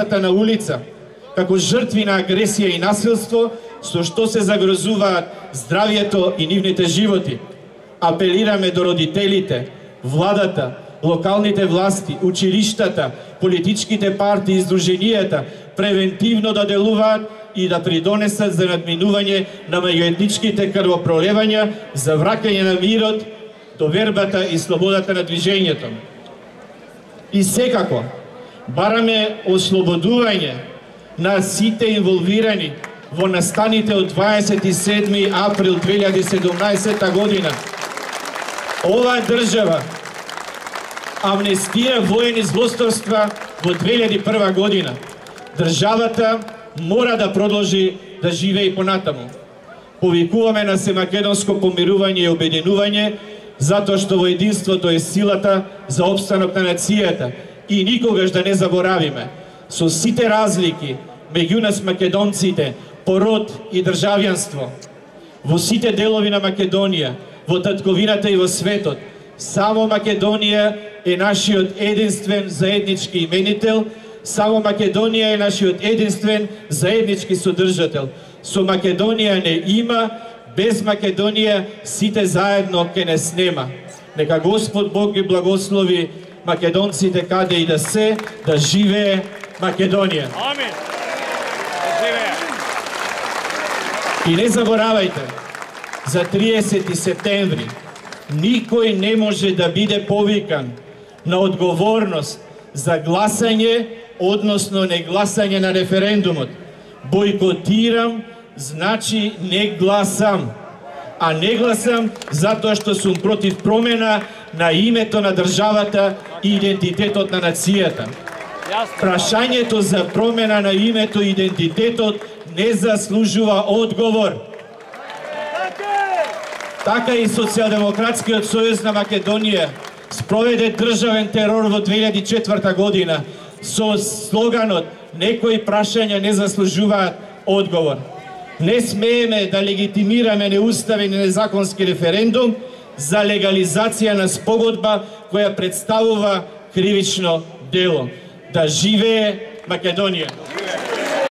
местата на улица, како жртви на агресија и насилство, со што се загрозуваат здравието и нивните животи. Апелираме до родителите, владата, локалните власти, училиштата, политичките партии и здруженијата превентивно да делуваат и да придонесат за надминување на меѓуетничките крвопролевања, за враќање на мирот, довербата и слободата на движењето. И секако, бараме ослободување на сите инволвирани во настаните од 27. април 2017 година. Оваа држава амнестира воени злосторства во 2001 година. Државата мора да продолжи да живее и понатаму. Повикуваме на семакедонско помирување и обединување, затоа што во единството е силата за опстанок на нацијата и никогаш да не заборавиме, со сите разлики меѓу нас македонците, по род и државјанство, во сите делови на Македонија, во татковината и во светот, само Македонија е нашиот единствен заеднички именител, само Македонија е нашиот единствен заеднички содржател. Со Македонија не има, без Македонија сите заедно ке не снема. Нека Господ Бог ги благослови македонците каде и да се, да живее Македонија. Амин. Да живее. И не заборавајте, за 30 септември никој не може да биде повикан на одговорност за гласање, односно не гласање на референдумот. Бойкотирам значи не гласам, а не гласам затоа што сум против промена на името на државата и идентитетот на нацијата. Прашањето за промена на името и идентитетот не заслужува одговор. Така и Социјалдемократскиот сојуз на Македонија спроведе државен терор во 2004 година со слоганот "Некои прашања не заслужуваат одговор". Не смееме да легитимираме неуставен и незаконски референдум за легализација на спогодба која представува кривично дело. Да живее Македонија!